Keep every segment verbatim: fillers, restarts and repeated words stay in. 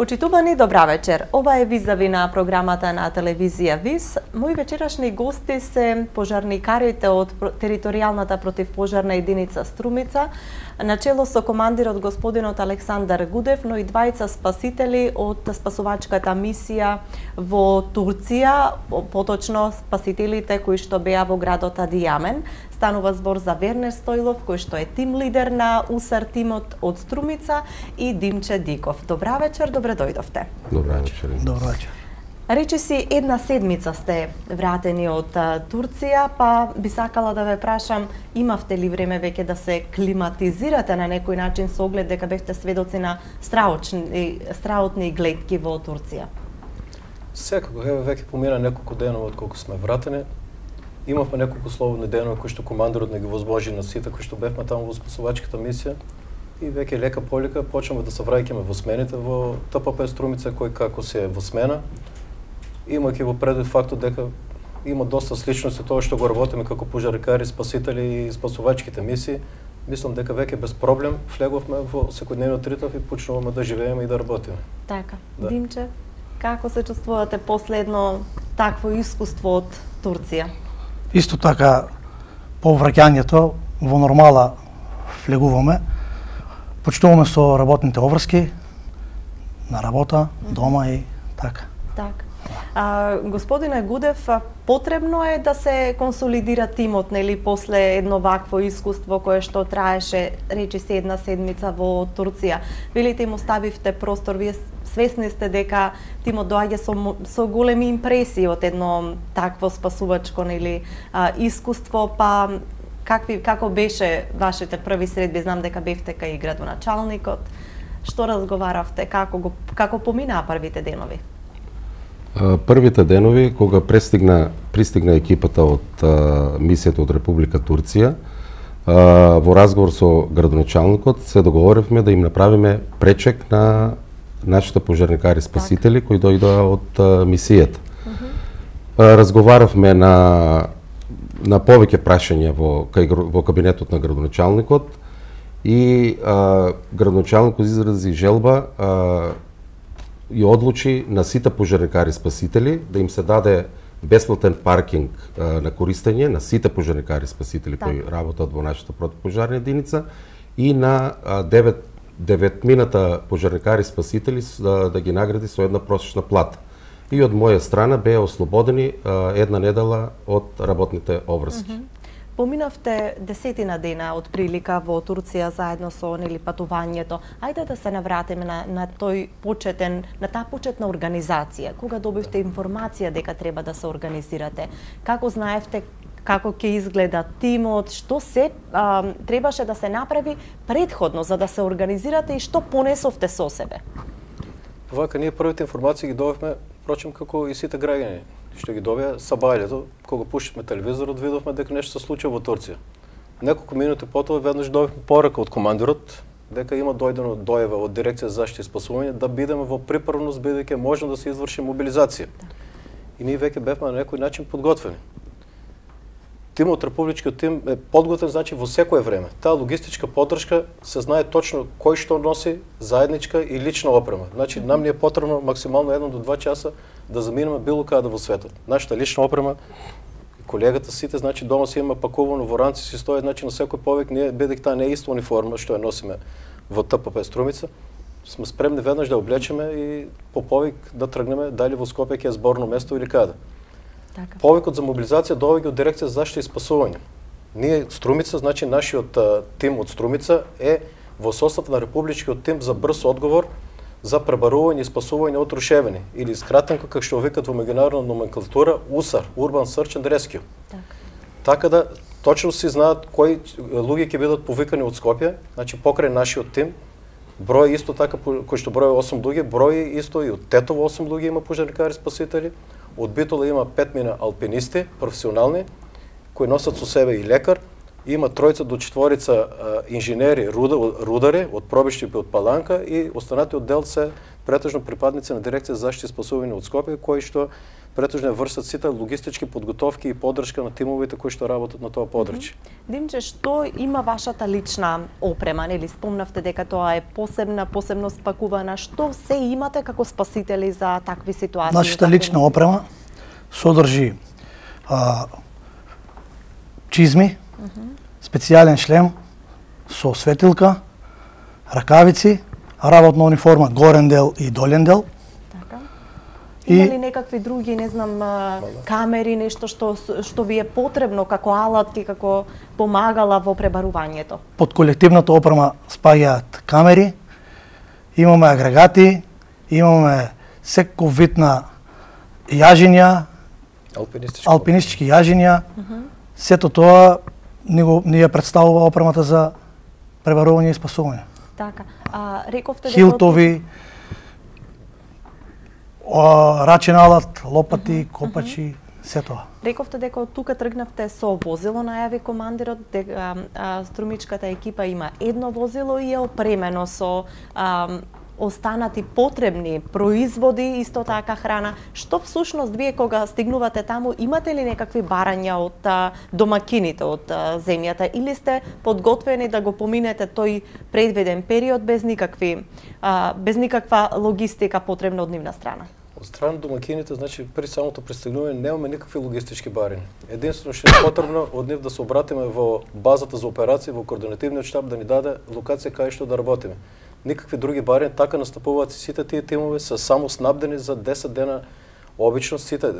Почитувани, добра вечер. Ова е Визави на програмата на телевизија ВИС. Мои вечерашни гости се пожарникарите од територијалната противпожарна единица Струмица, начело со командирот господинот Александар Гудев, но и двајца спасители од спасувачката мисија во Турција, поточно спасителите кои што беа во градот Адијамен. Станува збор за Вернер Стојлов, кој што е тим лидер на УСАР тимот од Струмица, и Димче Диков. Добра вечер, добре дојдовте. Добра вечер. Добра вечер. Речи си, една седмица сте вратени од Турција, па би сакала да ве прашам, имавте ли време веќе да се климатизирате на некој начин со оглед дека бевте сведоци на страотни, страотни гледки во Турција? Секако, еве веќе помина неколку денова од колку сме вратени. Имавме неколку слободни денови кои што командирот не ги возможи на сите кои што бевме таму во спасувачката мисија, и веќе лека полека почнеме да се враќаме во смените во ТПП Струмица, кој како се во смена. Имајќи во предвид фактот дека има доста сличности тоа што го работиме како пожарникари, спасители и спасувачките мисии, мислам дека веќе без проблем влеговме во секојдневниот ритм и почнуваме да живееме и да работиме. Така. Да. Димче, како се чувствувате последно такво искуство од Турција? Исто така, по враќањето во нормала влегуваме, почитуваме со работните обврски на работа, дома и така. Така. А, господине Гудев, потребно е да се консолидира тимот, нели, после едно вакво искуство кое што траеше, речи се, една седмица во Турција. Велите им оставивте простор, вие свесни сте дека тимот доаѓа со, со големи импресии од едно такво спасувачко, нели, а, искуство, па какви, како беше вашите први средби? Знам дека бевте кај градоначалникот. Што разговаравте, како го како поминаа првите денови? Првите денови, кога пристигна, пристигна екипата од а, мисијата од Република Турција, а, во разговор со градоначалникот се договоривме да им направиме пречек на нашите пожарникари спасители кои дојдоа од а, мисијата. Uh-huh. а, разговаравме на на повеќе прашања во кај, во кабинетот на градоначалникот и а, градоначалникот изрази желба а, и одлучи на сите пожарникари спасители да им се даде бесплатен паркинг а, на користење на сите пожарникари спасители кои работат во нашата противпожарна единица и на а, девет деветмината пожарникари спасители да, да ги награди со една просечна плата. И од моја страна беа ослободени а, една недела од работните обврски. Mm-hmm. Поминавте десетина дена од прилика во Турција заедно со, нели, патувањето. Ајде да се навратиме на, на тој почетен, на таа почетна организација. Кога добивте информација дека треба да се организирате? Како знаевте како ќе изгледа тимот, што се а, требаше да се направи предходно за да се организирате и што понесовте со себе? Вака, ние првите информации ги добивме, впрочем, како и сите граѓани што ги добија сабајлето, кога пуштивме телевизорот, видовме дека нешто се случува во Турција. Неколку минути потоа веднаш добивме порака од командирот дека има дојдено дојава од дирекција за заштита и спасување да бидеме во приправност бидејќи можно да се изврши мобилизација. И ние веќе бевме на некој начин подготвени. Тимот, републичкиот тим е подготвен, значи во секое време. Таа логистичка поддршка се знае точно кој што носи заедничка и лична опрема. Значи нам ни е потребно максимално едно до два часа да заминеме било каде во светот. Нашата лична опрема, колегата сите, значи дома си има пакувано во ранци, си стои, значи на секој повек ние бидејќи таа не е иста униформа што ја носиме во ТПП Струмица, сме спремни веднаш да облечеме и по повик да тргнеме дали во Скопје ќе е зборно место или каде. Така. Повикот за мобилизација доаѓа од дирекција за заштита и спасување. Ние Струмица, значи нашиот а, тим од Струмица е во состав на републичкиот тим за брз одговор за пребарување и спасување од рушевини или скратенко како што викат во меѓународна номенклатура УСАР, Urban Search and Rescue. Така. Така да точно си знаат кои луѓе ќе бидат повикани од Скопје, значи покрај нашиот тим. Број исто така кој што број осум луѓе, број исто и од Тетово осум луѓе има пожарникари спасители. Од Битола има петмина алпинисти, професионални, кои носат со себе и лекар, има тројца до четворица инженери, рудари од Пробиштип и од Паланка и останатиот дел се претежно припадници на дирекција за заштита и спасување од Скопје, кои што претежно вршат сите логистички подготовки и поддршка на тимовите кои што работат на тоа подрачје. Димче, што има вашата лична опрема, нели спомнавте дека тоа е посебна, посебно спакувана, што се имате како спасители за такви ситуации? Нашата лична опрема содржи а, чизми, специјален шлем со светилка, ракавици, работна униформа горен дел и долен дел. Така. Има ли некакви други, не знам, камери, нешто што што ви е потребно како алатки, како помагала во пребарувањето? Под колективната опрема спаѓаат камери, имаме агрегати, имаме секој вид на јажиња, алпинистички, алпинистички јажиња. Uh-huh. Сето тоа ни го ни ја представува опремата за пребарување и спасување. Така. А рековте дека хилтови, о, рачен алат, лопати, uh-huh. копачи, се тоа. Рековте дека од тука тргнавте со возило, најави командирот дека а, струмичката екипа има едно возило и е опремено со а, останати потребни производи, исто така храна. Што всушност вие кога стигнувате таму, имате ли некакви барања од а, домакините од а, земјата или сте подготвени да го поминете тој предвиден период без никакви а, без никаква логистика потребна од нивна страна? Од страна домакините, значи при самото пристигнување немаме никакви логистички барања. Единствено што е потребно од нив да се обратиме во базата за операции, во координативниот штаб да ни даде локација кај што да работиме. Никакви други барања, така настапуваат сите тие тимови, се само снабдени за десет дена. Обично сите,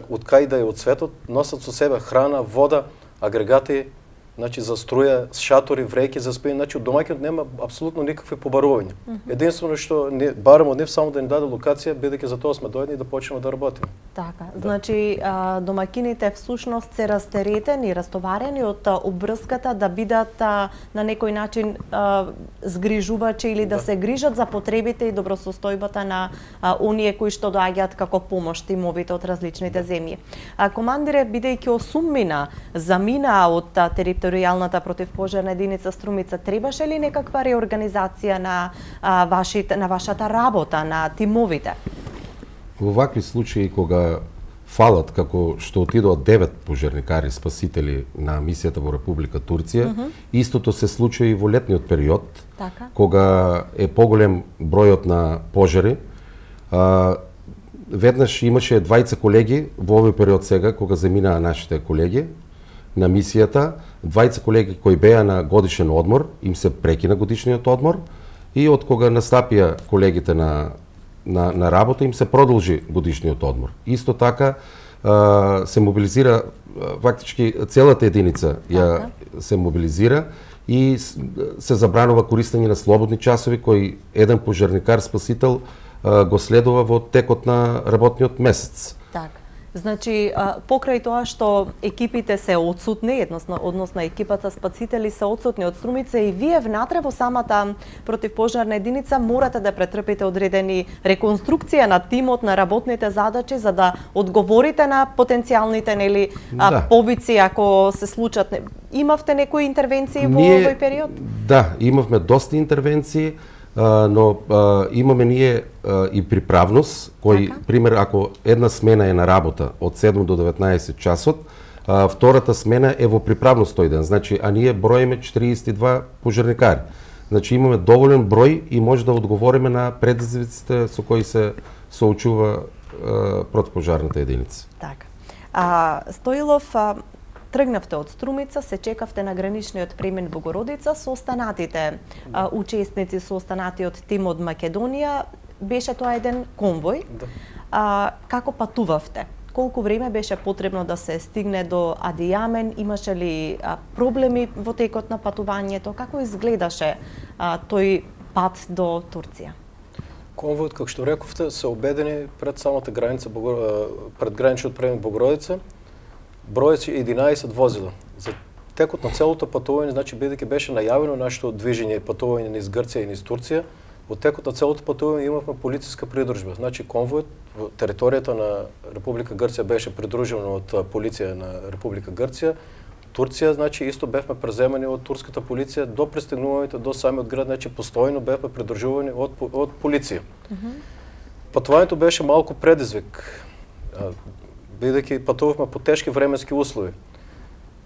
од кај да е од светот, носат со себе храна, вода, агрегати, значи за струја, шатори, врејки за спиење, значи од домаќинот нема апсолутно никакви побарувања. Mm -hmm. Единствено што не бараме од нив само да ни даде локација, бидејќи за тоа сме дојдени да почнеме да работиме. Така, да. Значи а, домакините всушност се растеретени, растоварени од а, обврската да бидат а, на некој начин а, згрижувачи или да. да се грижат за потребите и добросостојбата на а, оние кои што доаѓаат како помош тимовите од различните земји. А, командире, бидејќи осуммина замина од а, територијалната противпожарна единица Струмица, требаше ли некаква реорганизација на а, вашите на вашата работа, на тимовите? Во вакви случаи кога фалат како што отидоа девет пожарникари спасители на мисијата во Република Турција, mm -hmm. истото се случи и во летниот период, така. Кога е поголем бројот на пожари. А, веднаш имаше двајца колеги во овој период сега кога заминаа нашите колеги на мисијата, двајца колеги кои беа на годишен одмор, им се прекина годишниот одмор и од кога настапија колегите на на на работа им се продолжи годишниот одмор. Исто така а, се мобилизира фактички целата единица ја се мобилизира и се забранува користење на слободни часови кои еден пожарникар спасител а, го следува во текот на работниот месец. Така. Значи, покрај тоа што екипите се отсутни, односно, односно екипата спасители се отсутни од Струмица и вие внатре во самата противпожарна единица морате да претрпите одредени реконструкција на тимот, на работните задачи, за да одговорите на потенцијалните нели да. повици ако се случат. Имавте некои интервенции во ние, овој период? Да, имавме доста интервенции. Uh, но uh, имаме ние uh, и приправност, кој, така? Пример, ако една смена е на работа од седум до деветнаесет часот, uh, втората смена е во приправност тој ден, значи, а ние броиме четириесет и два пожарникари. Значи, имаме доволен број и може да одговориме на предизвиците со кои се соочува uh, противпожарната единица. Така. А, Стоилов, а... тргнавте од Струмица, се чекавте на граничниот премен Богородица со останатите а, учесници, со останатиот тим од Македонија. Беше тоа еден конвој. Да. А, како патувавте? Колку време беше потребно да се стигне до Адијамен? Имаше ли а, проблеми во текот на патувањето? Како изгледаше а, тој пат до Турција? Конвојот, како што рековте, се обедени пред самата граница, пред граничниот премен Богородица. Бројот единаесет возила. За текот на целото патување, значи бидејќи беше најавено нашето движење и патување низ Грција и низ Турција, во текот на целото патување имавме полициска придружба. Значи конвојот во територијата на Република Грција беше придружен од полиција на Република Грција. Турција, значи исто бевме преземани од турската полиција до пристигнувањето до самиот град, значи постојано бевме придржувани од од полиција. Mm -hmm. Патувањето беше малку предизвик, бидејќи патувавме по тешки временски услови.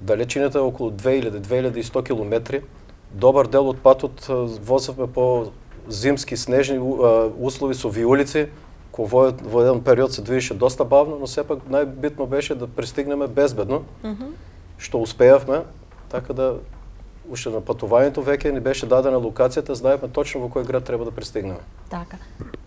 Далечината е околу две илјади до две илјади и сто километри. Добар дел од патот возевме по зимски снежни услови со виулици, кој во еден период се движеше доста бавно, но сепак најбитно беше да пристигнеме безбедно, mm -hmm. што успеавме, така да уште на патувањето веќе ни беше дадена локацијата, знаевме точно во кој град треба да пристигнеме. Така.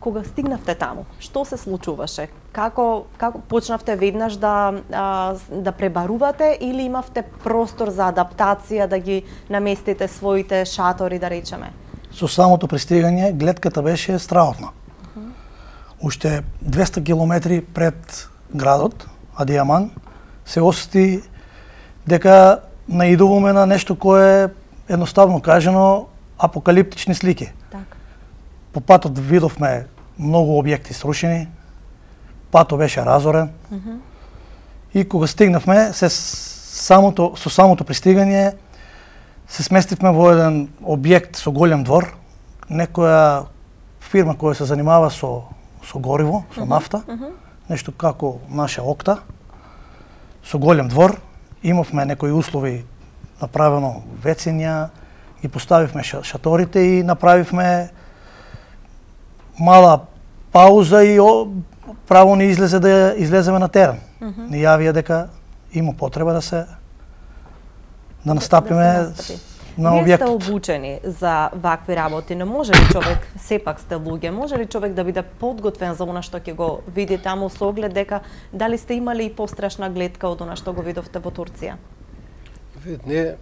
Кога стигнавте таму, што се случуваше? Како како почнавте веднаш да а, да пребарувате или имавте простор за адаптација да ги наместите своите шатори, да речеме? Со самото пристигање гледката беше страхотна. Uh -huh. Уште двесте километри пред градот Адијаман се осети дека наидуваме на нешто кое е едноставно кажано апокалиптични слики. Так. По патот видовме многу објекти срушени, патот беше разорен. Uh -huh. И кога стигнавме, се самото со самото пристигање се сместивме во еден објект со голем двор, некоја фирма која се занимава со со гориво, со нафта, uh -huh. нешто како наша Окта, со голем двор. Имавме некои услови, направено вецења, ги поставивме шаторите и направивме мала пауза и о, право ни излезе да излеземе на терен. Mm -hmm. Ни јавија дека има потреба да се да настапиме да се на објектот. Вие сте обучени за вакви работи, но може ли човек, сепак сте луѓе, може ли човек да биде подготвен за она што ќе го види таму со оглед дека дали сте имали и пострашна гледка од она што го видовте во Турција? Вид, ние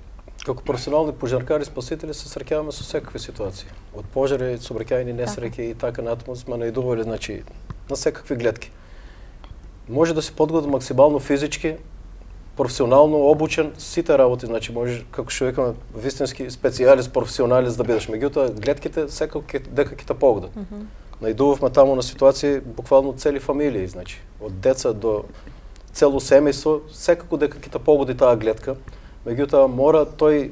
како професионални пожаркари спасители се среќаваме со секакви ситуации. Од пожари, сообраќајни несреќи и така натаму сме наидували, значи, на секакви гледки. Може да се подготви максимално физички, професионално обучен, сите работи, значи може како што викаме вистински специјалист, професионалист да бидеш. Меѓутоа гледките секако дека ќе те погодат. Mm -hmm. Наидувавме таму на ситуации буквално цели фамилии, значи од деца до цело семејство, секако дека ќе те погоди таа гледка. Меѓутоа мора тој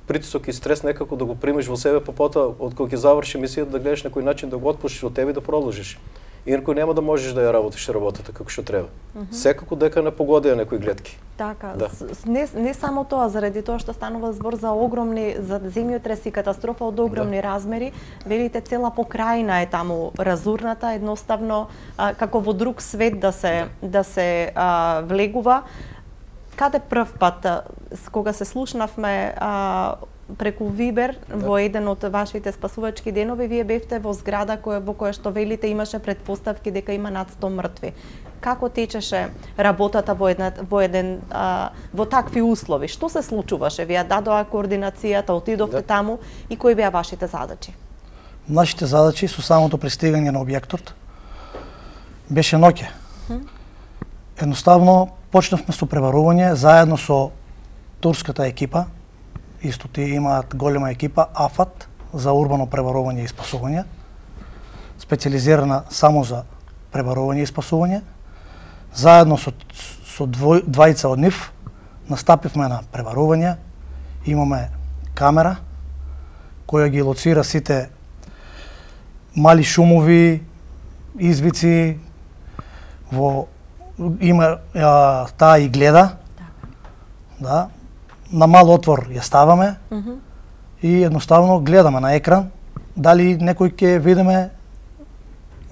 притисок и стрес некако да го примеш во себе, па потоа од кога ќе заврши мисијата да гледаш некој начин да го отпуштиш од тебе и да продолжиш. Инаку нема да можеш да ја работиш работата како што треба. Mm -hmm. Секако дека не погодија некои гледки. Така, да. не, не само тоа, заради тоа што станува збор за огромни, за земјотреси, катастрофа од огромни да. размери, велите цела покрајна е таму разурната, едноставно а, како во друг свет да се да, да се а, влегува. Каде прв пат, кога се слушнавме а, преку Вибер, да. во еден од вашите спасувачки денови, вие бевте во зграда која, во која што велите имаше предпоставки дека има над сто мртви. Како течеше работата во, една, во, еден, а, во такви услови? Што се случуваше? Вие дадоа координацијата, отидовте да. таму и кои беа вашите задачи? Нашите задачи со самото пристигање на објектот беше ноќе. Хм? Едноставно почнавме со преварување заедно со турската екипа. Исто тие имаат голема екипа АФАТ за урбано преварување и спасување, специјализирана само за преварување и спасување. Заедно со, со двој, двајца од нив настапивме на преварување. Имаме камера која ги лоцира сите мали шумови, извици, во има а, таа и гледа. Да. На мал отвор ја ставаме mm -hmm. и едноставно гледаме на екран дали некој ќе видиме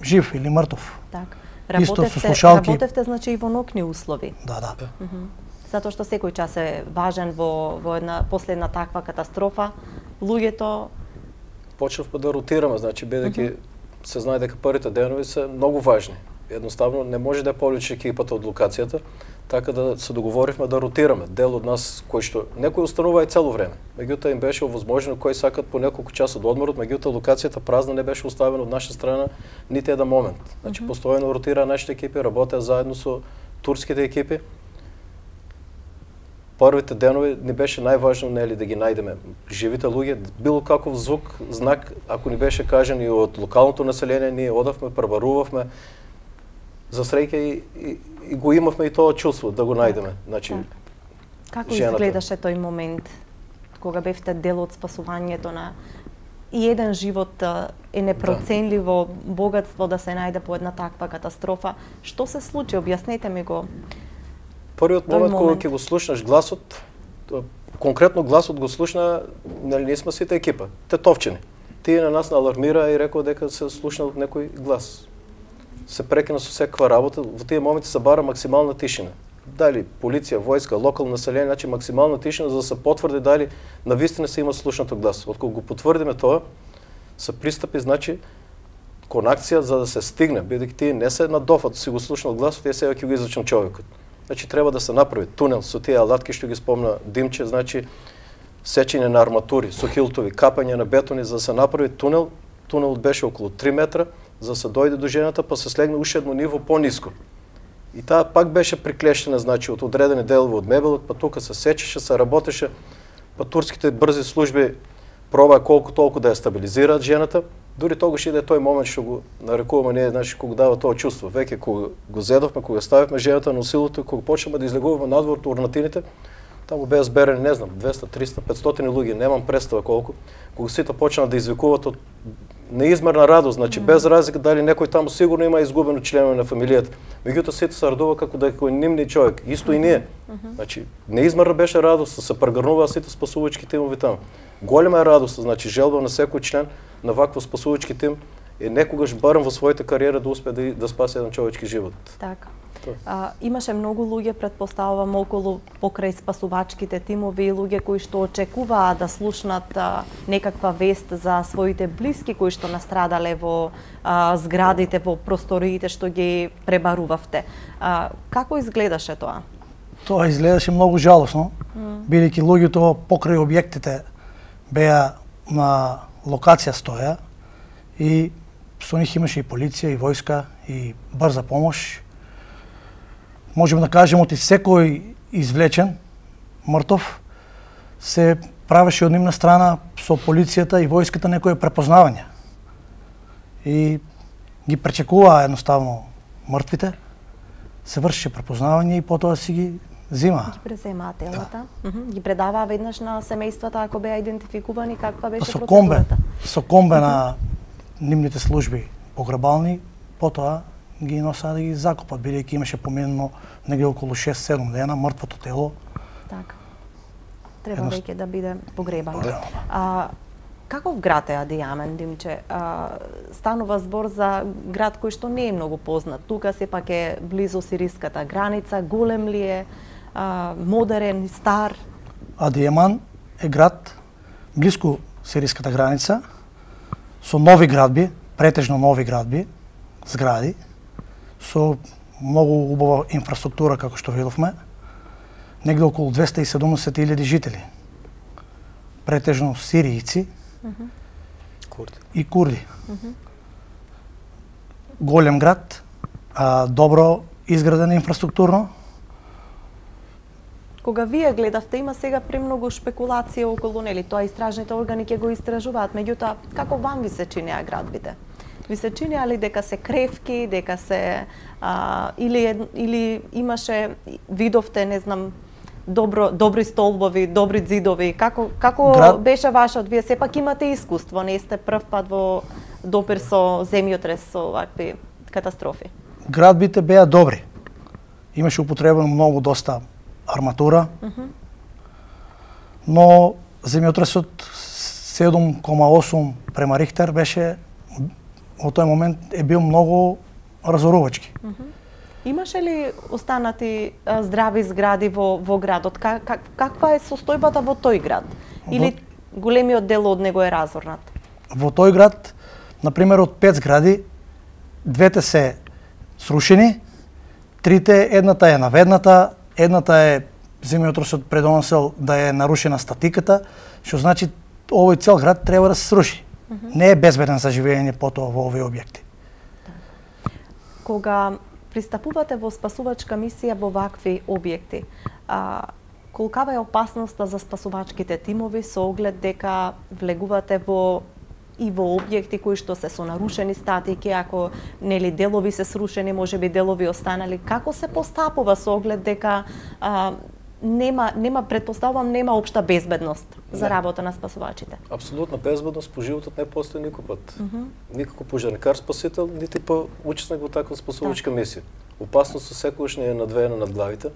жив или мртов. Так. Исто со слушалки. Работевте значи и во нокни услови. Да, да. Mm -hmm. Затоа што секој час е важен во во една последна таква катастрофа. Луѓето почнавме да ротираме, значи бидејќи mm -hmm. се знае дека првите денови се многу важни. Едноставно не може да повлече екипата од локацијата, така да се договоривме да ротираме. Дел од нас кој што некој останува и цело време. Меѓутоа им беше овозможено кои сакат по неколку часа од одморот, меѓутоа локацијата празна не беше оставена од наша страна нити еден момент. Значи mm -hmm. постојано ротира нашите екипи, работеа заедно со турските екипи. Првите денови ни беше најважно нели да ги најдеме живите луѓе, било каков звук, знак, ако ни беше кажан и од локалното население, ние одавме, пребарувавме. За среќа и, и, и го имавме и тоа чувство да го најдеме. Значи, Како жената. изгледаше тој момент кога бевте дел од спасувањето на и еден живот е непроценливо да. богатство да се најде по една таква катастрофа. Што се случи? Објаснете ми го. Првиот момент, момент кога ќе го слушнаш гласот, конкретно гласот го слушна, нели ние сме сите екипа, тетовчени. Тие на нас алармира и рекол дека се слушна од некој глас. Се прекина со секаква работа, во тие моменти се бара максимална тишина. Дали полиција, војска, локално население, значи максимална тишина за да се потврди дали навистина се има слушнато глас. Откога го потврдиме тоа, се пристапи, значи, кон акција за да се стигне, бидејќи тие не се на дофат, си го слушнал гласот, тие сега ќе го извлечам човекот. Значи треба да се направи тунел со тие алатки што ги спомна Димче, значи сечење на арматури, со хилтови, капање на бетони за да се направи тунел. Тунелот беше околу три метра, за да се дојде до жената, па се слегне уште едно ниво пониско. И таа пак беше приклештена, значи, од одредени делови од мебелот, па тука се сечеше, се работеше, па турските брзи служби пробаа колку толку да ја стабилизираат жената. Дури тогаш иде тој момент што го нарекуваме ние, значи, кога дава тоа чувство. Веќе кога го зедовме, кога ставивме жената на усилото, кога почнеме да излегуваме надвор од урнатините, таму беа зберени, не знам, двеста, триста, петстотини луѓе, немам представа колку. Кога сите почнаа да извикуваат од неизмерна радост, значи mm. без разлика дали некој таму сигурно има изгубено членови на фамилијата. Меѓутоа сите се радува како да е кој нивни човек, исто и ние. Mm -hmm. Значи неизмерна беше радост, се прегрнуваа сите спасувачки тимови таму. Голема е радост, значи желба на секој член на вакво спасувачки тим е некогаш барем во својата кариера да успее да, да спаси еден човечки живот. Така. А, имаше многу луѓе, претпоставувам, околу покрај спасувачките тимови и луѓе кои што очекуваа да слушнат а, некаква вест за своите блиски кои што настрадале во а, зградите, во просториите што ги пребарувавте. А, како изгледаше тоа? Тоа изгледаше многу жалосно, mm. бидејќи луѓето покрај објектите беа на локација стоја и со нив имаше и полиција, и војска, и брза помош. Можеме да кажеме оти секој извлечен, мртов, се правеше од нивна страна со полицијата и војската некој препознавање. И ги пречекуваа едноставно мртвите, се вршеше препознавање и потоа си ги зимаа. Ги преземаа телата, да. Ги предаваа веднаш на семејствата ако беа идентификувани, каква беше со процедурата? Комбе, со комбе на нивните служби погребални, потоа ги носаа да ги закопат, бидејќи имаше поминено негде околу шест-седум дена мртвото тело. Така. Треба Едно... веќе да биде погребано. Да. А, каков град е Адијамен, Димче? А, станува збор за град кој што не е многу познат. Тука сепак е близу сириската граница, голем ли е, а, модерен, стар? Адијаман е град близко сириската граница, со нови градби, претежно нови градби, згради, со многу убава инфраструктура, како што видовме, негде околу двеста и седумдесет илјади жители. Претежно сиријци mm -hmm. курди. и курди. Mm -hmm. Голем град, а, добро изграден инфраструктурно. Кога вие гледавте, има сега премногу шпекулација околу нели, тоа истражните органи ќе го истражуваат, меѓутоа како вам ви се чинеа градбите? Ви се чинеа ли дека се кревки, дека се а, или или имаше видовте, не знам, добро добри столбови, добри ѕидови, како како Град... беше вашот? Вие сепак имате искуство, не сте прв пат во допир со земјотрес, со вакви катастрофи. Градбите беа добри. Имаше употребено многу доста арматура, mm -hmm. но земјотресот седум кома осум према Рихтер беше во тој момент е бил многу разорувачки. Mm -hmm. Имаше ли останати а, здрави згради во во градот? Как, как, каква е состојбата во тој град? Или во... големиот дел од него е разорнат? Во тој град, на пример, од пет згради, двете се срушени, трите, едната е наведната, едната е земјотресот предонесел да е нарушена статиката, што значи овој цел град треба да се сруши. Mm -hmm. Не е безбеден за живење потоа во овие објекти. Кога пристапувате во спасувачка мисија во вакви објекти, а, колкава е опасноста за спасувачките тимови со оглед дека влегувате во и во објекти кои што се со нарушени статики, ако нели делови се срушени, можеби делови останали, како се постапува со оглед дека а, нема нема предпоставувам нема општа безбедност за работа на спасувачите. Апсолутна безбедност по животот не постои никој пат. Mm -hmm. Никако пожарникар спасител, нити по учесник во таква спасувачка так. мисија. Опасноста секогаш не е надвеена над главите.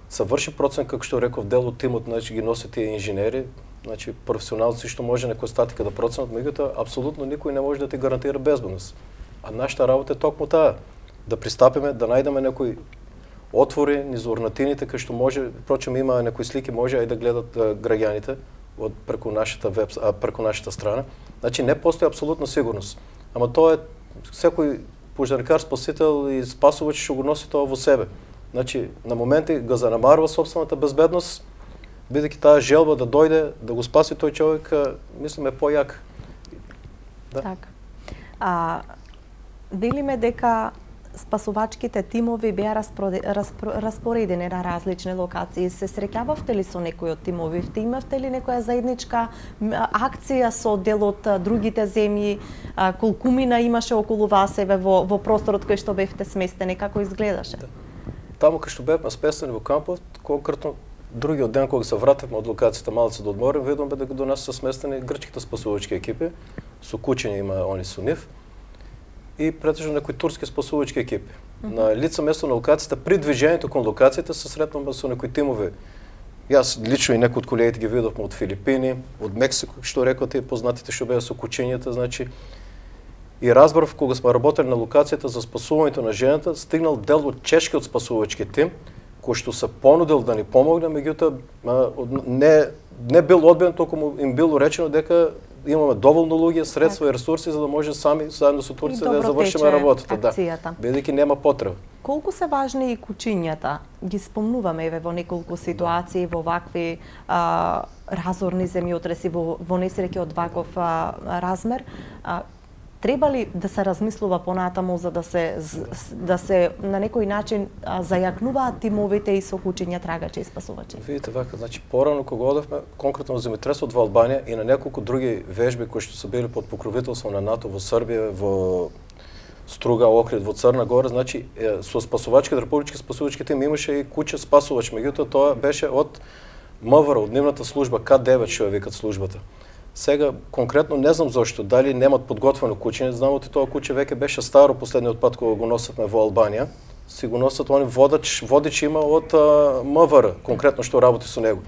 Се врши процен, како што реков, дел од тимот, значи ги носат тие инженери, значи професионалци што може некоја статика да проценат, меѓутоа апсолутно никој не може да ти гарантира безбедност. А нашата работа е токму таа, да пристапиме, да најдеме некој отвори низ урнатините, кај што може, впрочем има некои слики, може и да гледат а, граѓаните од преку нашата веб, а, преку нашата страна. Значи не постои апсолутна сигурност. Ама тоа е секој пожарникар, спасител и спасувач што го носи тоа во себе. Значи на моменти го занемарува собствената безбедност, бидејќи таа желба да дојде да го спаси тој човек, мислам е појак. Да. Така. А велиме дека спасувачките тимови беа распоредени на различни локации. Се среќававте ли со некој од тимовите? Имавте ли некоја заедничка акција со дел од другите земји? Колкумина имаше околу вас еве во, во просторот кој што бевте сместени? Како изгледаше? Да. Таму кај што бевме сместени во кампот, конкретно другиот ден кога се вратевме од локацијата малце да одморим, видовме дека до нас се сместени грчките спасувачки екипи, со кучиња има они со нив, и претежно некои турски спасувачки екипи. Mm -hmm. На лице место на локацијата, при движењето кон локацијата се сретнавме со некои тимови. Јас лично и некои од колегите ги видовме од Филипини, од Мексико, што рекоа тие познатите што беа со кучињата, значи. И разбрав кога сме работели на локацијата за спасувањето на жената, стигнал дел од чешкиот спасувачки тим, кој што се понудил да ни помогне, меѓутоа не не бил одбиен, толку им било речено дека имаме доволно луѓе, средства и ресурси за да може сами заедно со Турција да завршиме работата, да. Бидејќи нема потреба. Колку се важни и кучињата? Ги спомнуваме еве во неколку ситуации во вакви а, разорни земјотреси, во, во несреќи од ваков а, размер. А, Треба ли да се размислува понатаму за да се да се на некој начин а, зајакнуваат тимовите и со кучиња трагачи и спасувачи? Видите вака, значи порано кога одевме конкретно во земјотресот во Албанија и на неколку други вежби кои што се били под покровителство на НАТО во Србија, во Струга, Охрид, во Црна Гора, значи е, со спасувачки, републички спасувачки тим имаше и куче спасувач, меѓутоа тоа беше од МВР, од нивната служба К девет што ја викат службата. Сега конкретно не знам зошто, дали немат подготвено куче, не знам, тоа куче веќе беше старо последниот пат кога го носевме во Албанија. Си го носат они водач, водич има од МВР, конкретно што работи со него.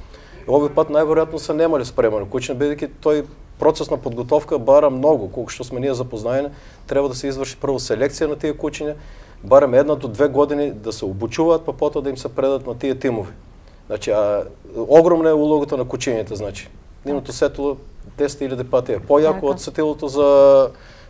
И овој пат најверојатно се немале спремано куче, бидејќи тој процес на подготовка бара многу, колку што сме ние запознаени, треба да се изврши прво селекција на тие кучиња, бараме една до две години да се обучуваат, па потоа да им се предат на тие тимови. Значи, а, огромна е улогата на кучињата, значи. Нивното сетило десет илјади пати е појако од сетилото за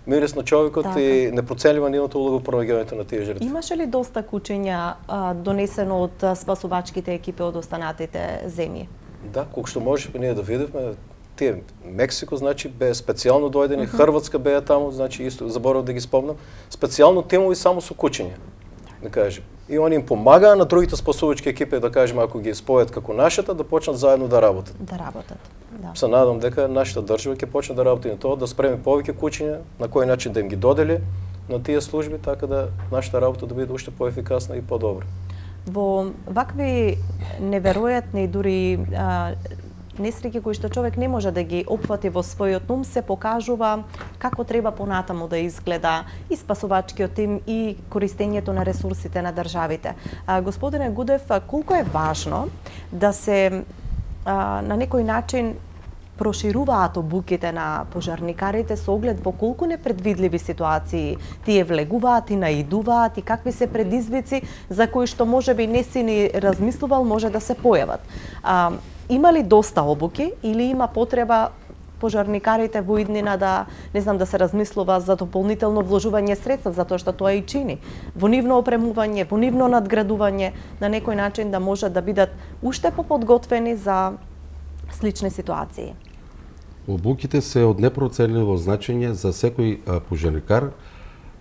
мирис на човекот така. И непроценлива нивната улога во промаѓањето на тие жртви. Имаше ли доста кучиња а, донесено од спасувачките екипи од останатите земји? Да, колку што можеме ние да видевме, тие Мексико значи бе специјално дојдени, uh -huh. Хрватска беа таму, значи исто заборав да ги спомнам, специјално тимови само со кучиња. Да кажем. И они им помагаа на другите спасувачки екипи, да кажем, ако ги спојат како нашата, да почнат заедно да работат. Да работат. Да. Се надам дека нашата држава ќе почне да работи на тоа, да спреми повеќе кучиња, на кој начин да им ги додели на тие служби, така да нашата работа да биде уште поефикасна и подобра. Во вакви неверојатни дури а, несреќи кои што човек не може да ги опфати во својот ум, се покажува како треба понатаму да изгледа и спасувачкиот тим и користењето на ресурсите на државите. А, господине Гудев, колку е важно да се а, на некој начин прошируваат обуките на пожарникарите со оглед во колку непредвидливи ситуации тие влегуваат и наидуваат и какви се предизвици за кои што можеби не си ни размислувал може да се појават. А, има ли доста обуки или има потреба пожарникарите во иднина да, не знам, да се размислува за дополнително вложување средства, затоа што тоа и чини, во нивно опремување, во нивно надградување, на некој начин да можат да бидат уште поподготвени за слични ситуации? Обуките се од непроценливо значење за секој а, пожарникар,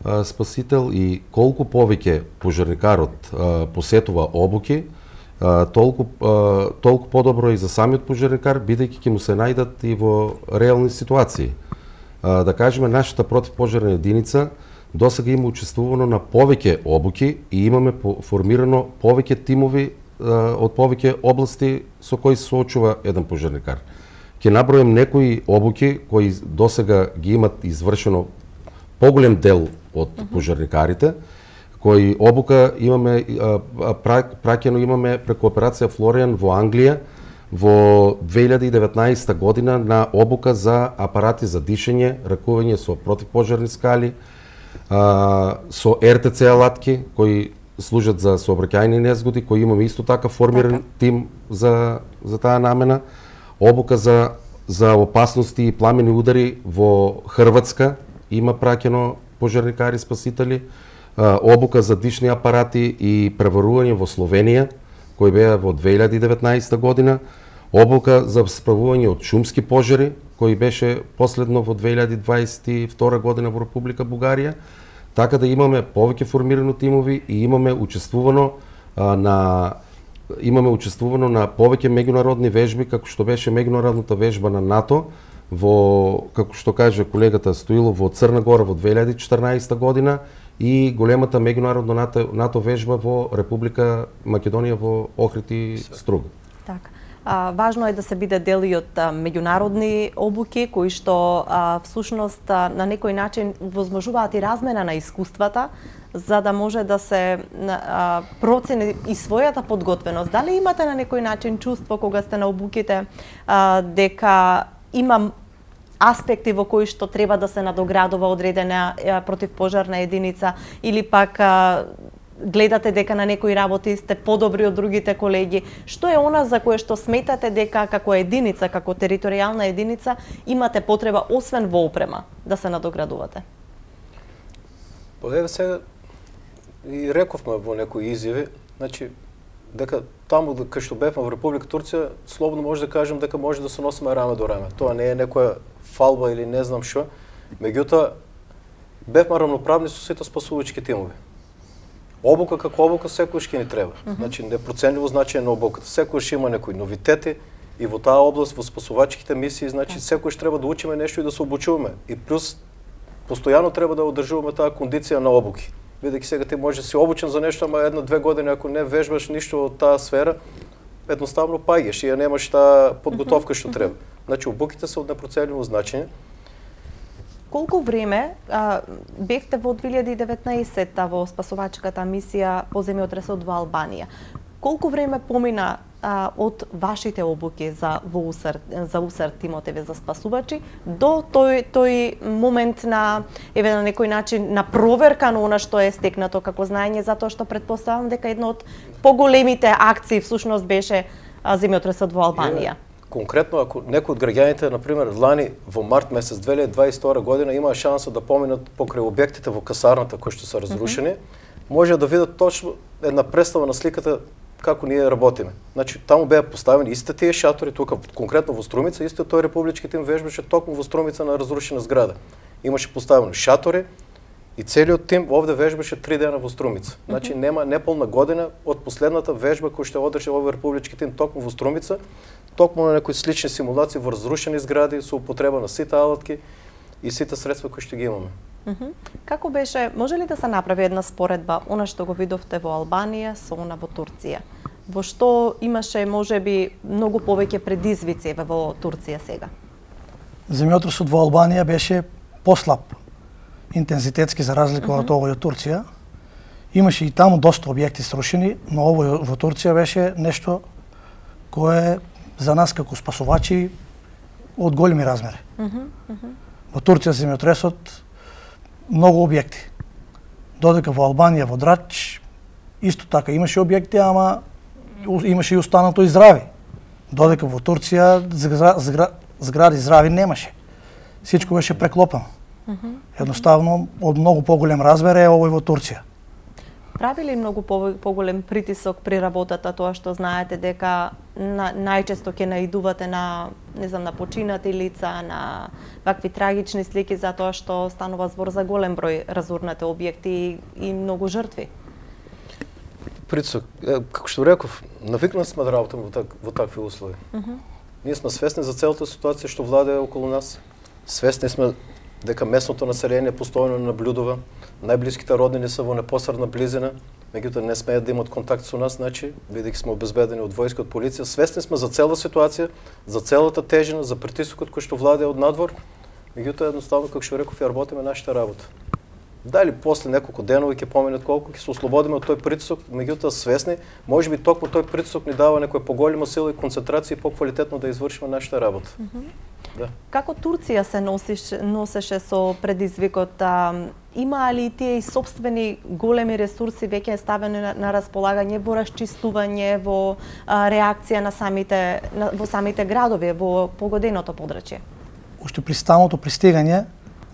а, спасител, и колку повеќе пожарникарот а, посетува обуки, а, толку а, толку подобро и за самиот пожарникар, бидејќи ќе му се најдат и во реални ситуации. А, да кажеме, нашата противпожарна единица досега има учествувано на повеќе обуки и имаме формирано повеќе тимови од повеќе области со кои се соочува еден пожарникар. Ќе набројам некои обуки кои досега ги имат извршено поголем дел од пожарникарите, кои обука имаме праќено имаме преку операција Флориан во Англија во две илјади и деветнаесетта година на обука за апарати за дишење, ракување со противпожарни скали, со Р Т Ц алатки кои служат за сообраќајни незгоди, кои имаме исто така формиран тим за за таа намена, обука за за опасности и пламени удари во Хрватска има праќено пожарникари спасители, обука за дишни апарати и преварување во Словенија кои беа во две илјади и деветнаесетта година, обука за справување од шумски пожари кои беше последно во две илјади дваесет и втора година во Република Бугарија, така да имаме повеќе формирано тимови и имаме учествувано а, на имаме учествувано на повеќе меѓународни вежби, како што беше меѓународната вежба на НАТО во, како што каже колегата Стоилов, во Црна Гора во две илјади и четрнаесетта година и големата меѓународна НАТО, НАТО вежба во Република Македонија во Охрид и Струга. Така. А, важно е да се биде дел и од а, меѓународни обуки кои што а, всушност а, на некој начин возможуваат и размена на искуствата за да може да се а, процени и својата подготвеност. Дали имате на некој начин чувство кога сте на обуките а, дека има аспекти во кои што треба да се надоградува одредена а, противпожарна единица или пак а, гледате дека на некои работи сте подобри од другите колеги? Што е она за кое што сметате дека како единица, како територијална единица имате потреба освен во опрема да се надоградувате? Па еве сега и рековме во некои изјави, значи дека таму кај што бевме во Република Турција, слободно може да кажем дека може да се носиме раме до раме. Тоа не е некоја фалба или не знам што. Меѓутоа бевме рамноправни со сите спасувачки тимови. Обука како обука секојаш ќе ни треба. Mm -hmm. Значи непроценливо значење на обуката. Секојаш има некои новитети и во таа област во спасувачките мисии, значи секојаш треба да учиме нешто и да се обучуваме. И плюс постојано треба да одржуваме таа кондиција на обуки. Бидејќи сега ти може да си обучен за нешто, ама една-две години ако не вежбаш ништо од таа сфера, едноставно паѓаш и ја немаш таа подготовка што треба. Значи обуките се од непроценливо значење. Колку време а, бевте во две илјади и деветнаесетта во спасувачката мисија по земјотресот во Албанија? Колку време помина а, од вашите обуки за во УСР, за УСР тимотеве за спасувачи до тој тој момент на еве на некој начин на проверка на она што е стекнато како знаење, затоа што претпоставам дека една од поголемите акции всушност беше а, земјотресот во Албанија. Конкретно, ако некој од граѓаните, например, лани во март месец две илјади дваесет и втора година имаа шанса да поминат покрај објектите во касарната кои што се разрушени, mm -hmm. може да видат точно една представа на сликата како ние работиме. Значи, таму беа поставени истите тие шатори, тука конкретно во Струмица, истиот тој републички тим вежбаше токму во Струмица на разрушена зграда. Имаше поставено шатори и целиот тим овде вежбаше три дена во Струмица. Значи, нема неполна година од последната вежба која што одржа овој републички тим токму во Струмица, токму на некои слични симулации во разрушени згради со употреба на сите алатки и сите средства кои што ги имаме. Mm -hmm. Како беше, може ли да се направи една споредба, она што го видовте во Албанија со она во Турција? Во што имаше можеби многу повеќе предизвици во Турција сега? Земјотресот во Албанија беше послаб интензитетски за разлика mm -hmm. од овој од Турција. Имаше и таму доста објекти срушени, но овој во Турција беше нешто кое за нас како спасувачи од големи размери. Mm -hmm. Mm -hmm. Во Турција земјотресот многу објекти. Додека во Албанија, во Драч, исто така имаше објекти, ама имаше и останато и здрави. Додека во Турција згра, згра, згради здрави немаше. Сичко беше преклопено. Mm -hmm. Едноставно, од многу поголем размер е овој во Турција. Прави ли многу поголем притисок при работата тоа што знаете дека на, најчесто ќе наидувате на, не знам, на починати лица, на вакви трагични слики затоа што станува збор за голем број разурнати објекти и, и многу жртви? Притисок, како што реков, навикнати сме да работиме во, так, во такви услови. Mm -hmm. Ние сме свесни за целата ситуација што владее околу нас. Свесни сме дека местното население постојано наблюдува, најблиските роднини се во непосредна близина, меѓутоа не смеат да имат контакт со нас, значи, бидејќи сме обезбедени од војска, од полиција, свесни сме за цела ситуација, за целата тежина, за притисокот кој што владее од надвор, меѓутоа едноставно, како што реков, ја работиме нашата работа. Дали после неколку денови ќе поминат колку ќе се ослободиме од тој притисок, меѓутоа свесни, можеби токму тој притисок ни дава некоја поголема сила и концентрација и поквалитетно да извршиме нашата работа. Mm -hmm. Да. Како Турција се носиш, носеше со предизвикот? А, има ли тие и собствени големи ресурси веќе ставени на, на располагање во расчистување, во а, реакција на самите на, во самите градови, во погоденото подрачје? Уште при самото пристигање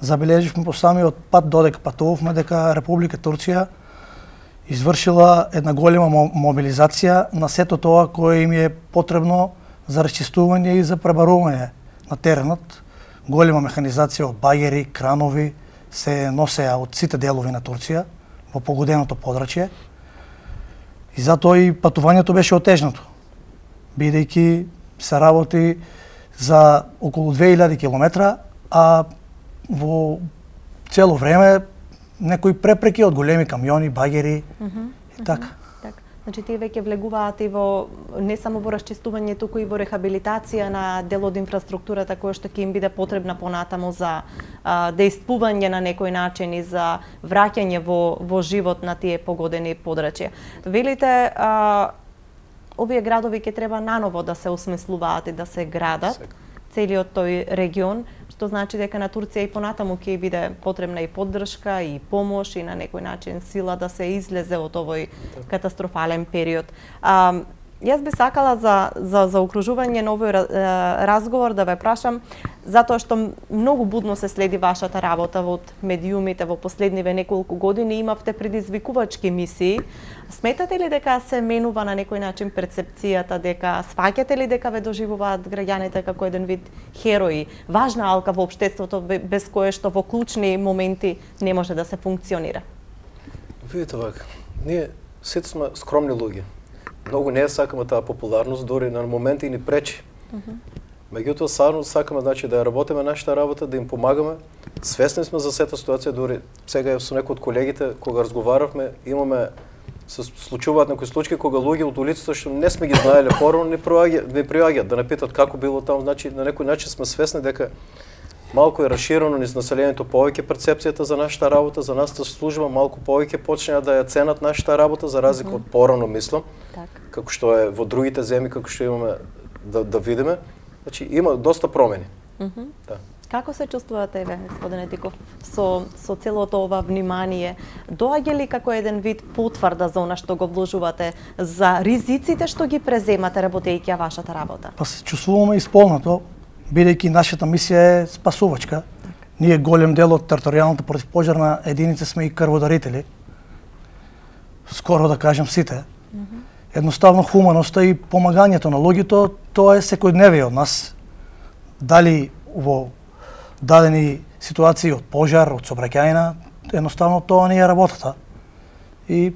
забележивме по самиот пат додека патувавме дека Република Турција извршила една голема мобилизација на сето тоа кое им е потребно за расчистување и за пребарување на теренот. Голема механизација од багери, кранови се носеа од сите делови на Турција во погоденото подрачје. И затоа и патувањето беше отежнато, бидејќи се работи за околу две илјади километра, а во цело време некои препреки од големи камиони, багери mm -hmm, и така. Mm -hmm, так. Значи тие веќе влегуваат и во не само во расчистување, туку и во рехабилитација на дел од инфраструктурата која што ќе им биде потребна понатаму за а, дејствување на некој начин и за враќање во во живот на тие погодени подрачја. Велите а, овие градови ќе треба наново да се осмислуваат и да се градат, целиот тој регион, што значи дека на Турција и понатаму ќе биде потребна и поддршка и помош и на некој начин сила да се излезе од овој катастрофален период. А, јас би сакала за за заокружување на овој разговор да ве прашам, затоа што многу будно се следи вашата работа од медиумите во последниве неколку години, имавте предизвикувачки мисии. Сметате ли дека се менува на некој начин перцепцијата, дека сваќате ли дека ве доживуваат граѓаните како еден вид херои, важна алка во општеството без кое што во клучни моменти не може да се функционира? Видите вака, ние сите сме скромни луѓе. Многу не сакаме таа популарност, дори на моменти и ни пречи. Mm -hmm. Меѓутоа, сарно сакаме значи, да ја работиме нашата работа, да им помагаме. Свесни сме за сета ситуација, дори сега со некои од колегите, кога разговаравме, имаме се случуваат некои случаи кога луѓе од улицата што не сме ги знаеле порано не приаѓаат да не питат како било таму, значи на некој начин сме свесни дека малку е расширено низ населението повеќе перцепцијата за нашата работа, за нашата служба, малку повеќе почнеа да ја ценат нашата работа за разлика mm -hmm. од порано мислам. Так. Како што е во другите земји, како што имаме да да видиме. Значи има доста промени. Mm -hmm. Да. Како се чувствувате, ве, господине Тиков, со со целото ова внимание? Доаѓа ли како еден вид потврда за она што го вложувате, за ризиците што ги преземате работејќи ја вашата работа? Па се чувствуваме исполнато, бидејќи нашата мисија е спасувачка. Так. Ние голем дел од територијалната противпожарна единица сме и крводарители. Скоро да кажем сите. Mm -hmm. Едноставно хуманоста и помагањето на луѓето, тоа е секојдневие од нас. Дали во дадени ситуации од пожар, од сообраќајна, едноставно тоа не е работата. И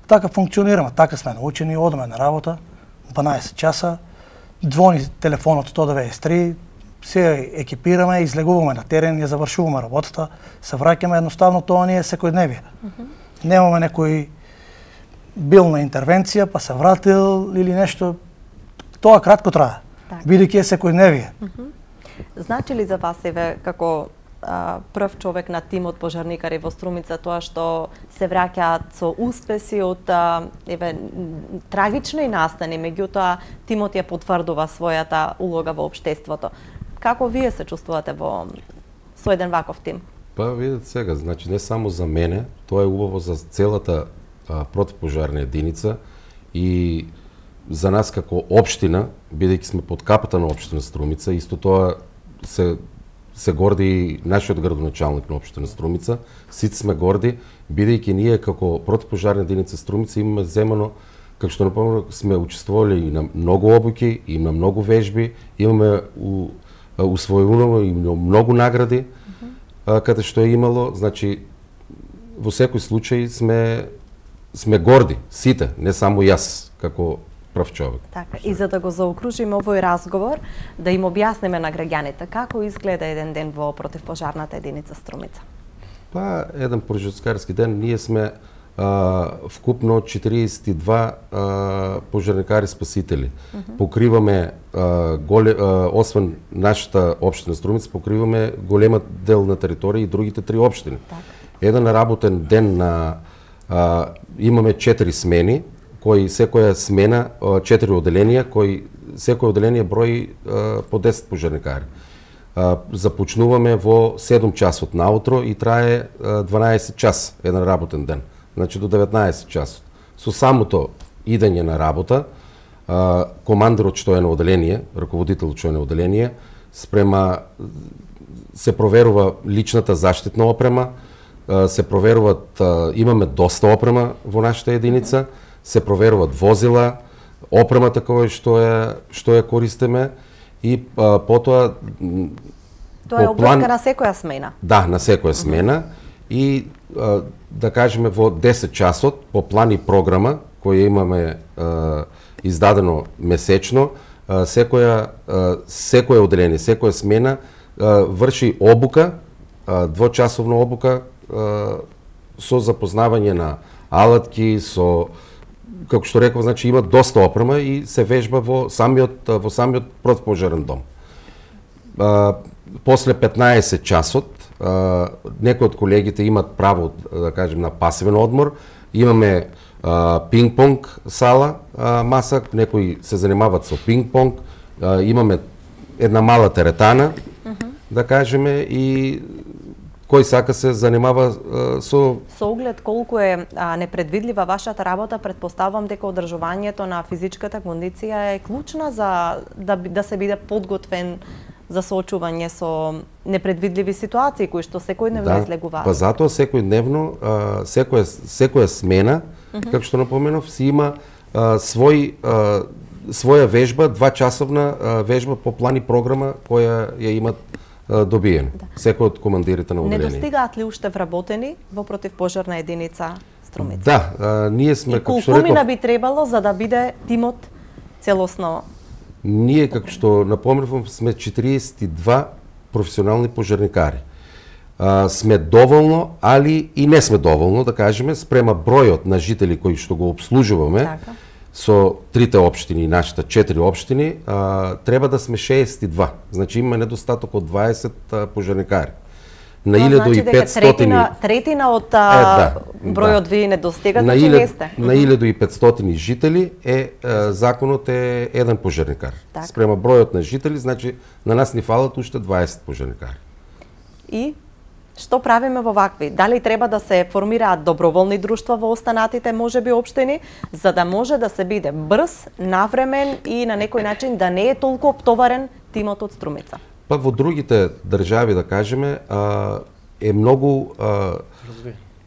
така функционираме, така сме научени, одаме на работа, дванаесет часа, звони телефонот сто деветдесет и три, се екипираме, излегуваме на терен, ја завршуваме работата, се враќаме, едноставно тоа не е секојдневие. Mm -hmm. Немаме некој бил на интервенција, па се вратил или нешто, тоа кратко трае, бидејќи е секојдневие. Mm -hmm. Значи ли за вас, еве, како а, прв човек на тимот пожарникари во Струмица, тоа што се враќаат со успеси од а, еве трагични настани, меѓутоа тимот ја потврдува својата улога во општеството. Како вие се чувствувате во со еден ваков тим? Па видете сега, значи не само за мене, тоа е убаво за целата а, противпожарна единица и за нас како општина, бидејќи сме под капата на општина Струмица, исто тоа се се горди нашиот градоначалник на општина Струмица, сите сме горди, бидејќи ние како противпожарна единица Струмица имаме земано, како што напомнам, сме учествували и на многу обуки, и на многу вежби, имаме у, усвојувано и многу награди, mm -hmm. каде што е имало, значи во секој случај сме сме горди, сите, не само јас како прв човек. Така, и за да го заокружиме овој разговор, да им објасниме на граѓаните како изгледа еден ден во противпожарната единица Струмица. Па, еден прожарскарски ден, ние сме а, вкупно четириесет и два а, пожарникари спасители. Mm-hmm. Покриваме а, голе, а, освен нашата општина Струмица, покриваме голема дел на територија и другите три општини. Так. Еден работен ден на а, имаме четири смени, кои секоја смена четири оделенија, кои секој оделение брои а, по десет пожарникари. А, започнуваме во седум часот наутро и трае а, дванаесет час еден работен ден. Значи до деветнаесет часот. Со самото идење на работа, а, командирот што е на оделение, раководителот што е на оделение, спрема се проверува личната заштитна опрема, а, се проверуваат, а, имаме доста опрема во нашата единица, се проверуваат возила, опремата која што е што ја користиме и а, потоа тоа е обврска на секоја смена. Да, на секоја смена и а, да кажеме во десет часот по план и програма која имаме а, издадено месечно, а, секоја а, секоја оделение, секоја смена а, врши обука, а, двочасовна обука а, со запознавање на алатки, со како што реков, значи има доста опрема и се вежба во самиот во самиот противпожарен дом. А, после петнаесет часот а, некои од колегите имат право, да кажем, на пасивен одмор. Имаме а, пинг-понг сала, а, маса, некои се занимаваат со пинг-понг. А, имаме една мала теретана, mm-hmm. да кажеме, и кој сака се занимава а, со... Со оглед колку е а, непредвидлива вашата работа, предпоставам дека одржувањето на физичката кондиција е клучна за да, да се биде подготвен за соочување со непредвидливи ситуации кои што секојдневно да, излегуваат. Па затоа секојдневно, а, секоја, секоја смена, mm-hmm. како што напоменав, си има а, свој, а, своја вежба, двачасовна а, вежба по план и програма која ја имат добиен. Да. Секој од командирите на оделение. Недостигаат ли уште вработени во противпожарна единица Струмица? Да, а, ние сме, како што реков... И колку мина би требало за да биде тимот целосно? Ние, како што напомнувам, сме четириесет и два професионални пожарникари. А, сме доволно, али и не сме доволно, да кажеме, спрема бројот на жители кои што го обслужуваме, така. Со трите општини и нашите четири општини, а, треба да сме шеесет и два. Значи имаме недостаток од дваесет а, пожарникари. На илјаду и петстотини... Третина, третина од а, е, да, бројот да. Ви недостига, на значи не сте. На илјаду и петстотини жители е, а, законот е еден пожарникар. Так. Спрема бројот на жители, значи на нас ни фалат уште дваесет пожарникари. И што правиме во вакви? Дали треба да се формираат доброволни друштва во останатите можеби општини, за да може да се биде брз, навремен и на некој начин да не е толку оптоварен тимот од Струмица? Па во другите држави, да кажеме, а, е многу а,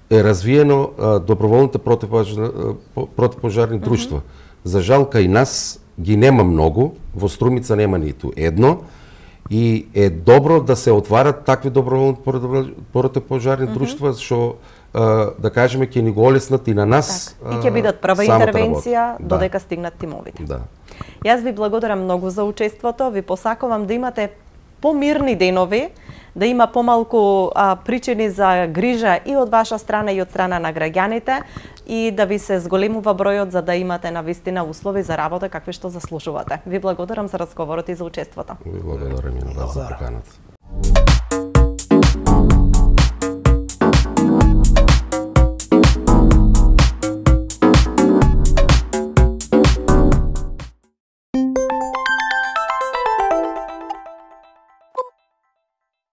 е развиено а, доброволните противпожарни, противпожарни друштва. Mm-hmm. За жал, кај нас ги нема многу, во Струмица нема ниту едно, и е добро да се отварат такви доброволни противпожарни mm-hmm. друштва, што да кажеме ќе ни го олеснат и на нас. Так. И ќе бидат прва интервенција работа. Додека да. Стигнат тимовите. Да. Јас ви благодарам многу за учеството, ви посакувам да имате помирни денови, да има помалку а, причини за грижа и од ваша страна и од страна на граѓаните и да ви се зголемува бројот за да имате навистина услови за работа какви што заслужувате. Ви благодарам за разговорот и за учеството. Ви благодарам и на вас за поканата.